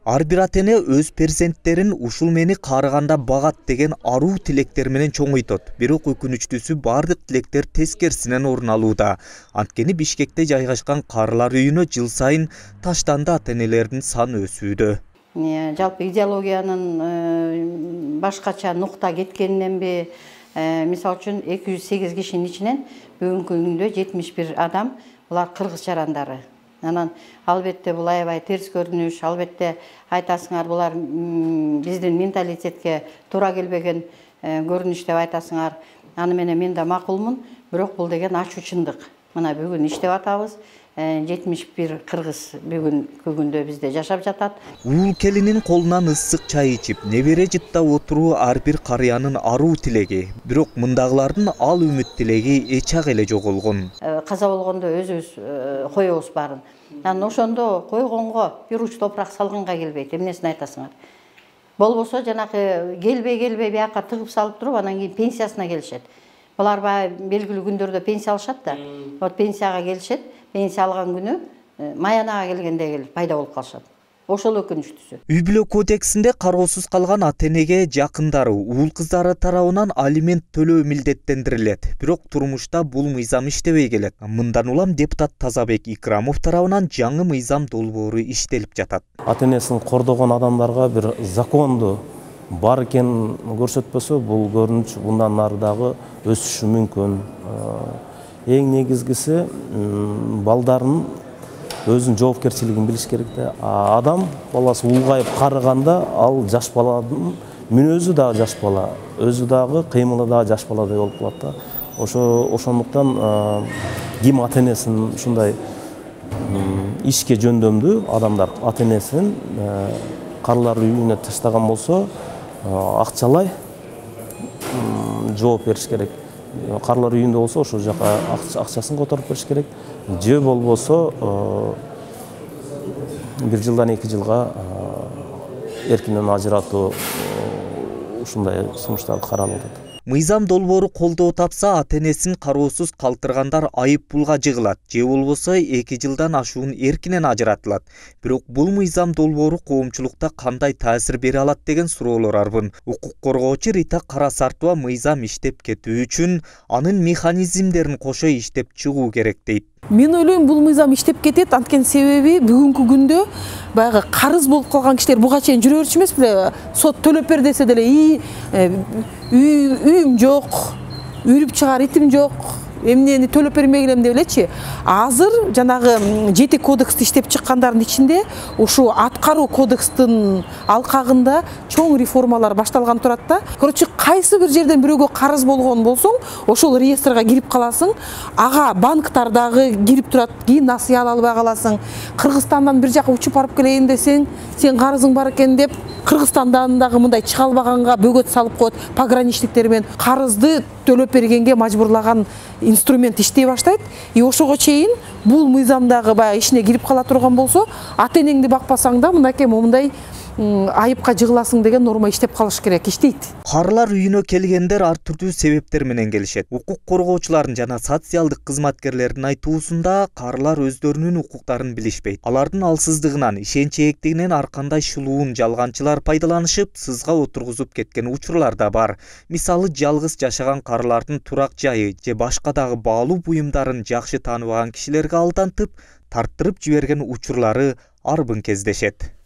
Ар бир ата-эне өз перзенттерин ушул мени карыганда багат деген аруу тилектер менен чоңойтот. Бирок өкүнүчтүүсү бардык тилектер тескерисинен орун алууда. Анткени Бишкекте жайгашкан карылар үйүнө жыл сайын таштанды ата-энелердин саны өсүүдө. Жалпы идеологиянын башкача нукта кеткениненби, мисалы үчүн 208 кишинин ичинен бүгүнкү күндө 71 адам булар кыргыз жарандары. Анан албетте бул аябай терс көрүнүш, албетте айтасыңар булар биздин менталитетке туура келбеген көрүнүш деп айтасыңар. Аны менен мен да макулмун, бирок бул деген ачуу чындык. Мына бүгүн иштеп атабыз. 71 кыргыз бүгүнкү күндө бизде жашап жатат. Уул келинин колунан ысык чай ичип, небере жыттап отуруу ар бир карыянын аруу тилеги. Бирок мындагылардын ал үмүт тилеги эчак эле жоголгон. Каза болгондо өзүбүз коебуз баарын. Анан ошондо койгонго бир уч топурак салганга келбейт. Эмнесин айтасыңар? Болбосо жанакы келбей бияка тыгып салып туруп, анан кийин пенсиясына келишет. Булар белгилүү күндөрдө пенсия алышат да. Вот пенсияга келишет. Пенсия алган күнү маянага келгенде келип пайда болуп калышат. Ошол өкүнүчтүүсү. Үй бүлө кодексинде кароосуз калган ата-энеге жакындары, уул кыздары тарабынан алимент төлөө милдеттендирилет. Бирок турмушта бул мыйзам иштебей келет. Мындан улам депутат Тазабек Икрамов тарабынан жаңы мыйзам долбоору иштелип жатат. Ата-энесин кордогон адамдарга бир законду бар экенин көрсөтпөсө, бул көрүнүш мындан нары дагы өсүшү мүмкүн. Эң негизгиси балдарын өзүнүн жоопкерчилигин билиш керек да. Адам баласы улгайып карыганда ал жаш баланын мүнөзү дагы жаш бала, өзү дагы кыймылы дагы жаш баладай болуп калат да. Ошондуктан ким ата-энесин ушундай ишке жөндөмдүү адамдар ата-энесин карылар үйүнө таштаган болсо, акчалай жооп бериш керек. Карылар үйүндө болсо ошол жака акчасын которуп бериш керек. Же болбосо 1 жылдан 2 жылга эркинен ажыратуу ушундай сунуштар каралып атат. Мыйзам долбоору колдоо тапса, ата-энесин кароосуз калтыргандар айып пулга жыгылат, же болбосо 2 жылдан ашуун эркинен ажыратылат. Бирок бул мыйзам долбоору коомчулукта кандай таасир бере алат деген суроолор арбын. Укук коргоочу Рита Карасартова мыйзам иштеп кетүү үчүн анын механизмдерин кошо иштеп чыгуу керек дейт. Мен ойлойм, бул мыйзам иштеп кетет, анткени себеби бүгүнкү күндө баягы карыз болуп калган кишилер буга чейин жүрө берчү эмес беле? Сот төлөп бер десе деле, үйүм жок, үйрүп чыгар итим жок, эмнени төлөп бермей келем деп элечи. Азыр жанагы 7 кодексти иштеп чыккандардын ичинде ушу аткаруу кодекстин алкагында чоң реформалар башталган турат да. Короче, кайсы бир жерден бирөөгө карыз болгон болсоң, ошол реестрге кирип каласың, ага банктар дагы кирип турат, кийин насыя ала албай каласың. Кыргызстандан бир жака учуп барып келейин десең, сен карызың бар экен деп Кыргызстандан дагы мындай чыга албаганга бөгөт салып коет пограничниктер менен. Карызды төлөп бергенге мажбурлаган инструмент иштей баштайт. Ошого чейин бул мыйзамдагы баягы ишине кирип кала турган болсо, ата-энеңди бакпасаң да мынакей момундай айыпка жыгыласың деген норма иштеп калыш керек, иштейт. Карылар үйүнө келгендер ар түрдүү себептер менен келишет. Укук коргоочулардын жана социалдык кызматкерлердин айтуусунда карылар өздөрүнүн укуктарын билишпейт. Алардын алсыздыгынан, ишенч ээктигинен ар кандай шулуун жалганчылар пайдаланышып, сызга отургузуп кеткен учурлар да бар. Мисалы, жалгыз жашаган карылардын турак жайы же башка дагы баалуу буюмдарын жакшы тааныбаган кишилерге алдантып, тарттырып жиберген учурлары арбын кездешет.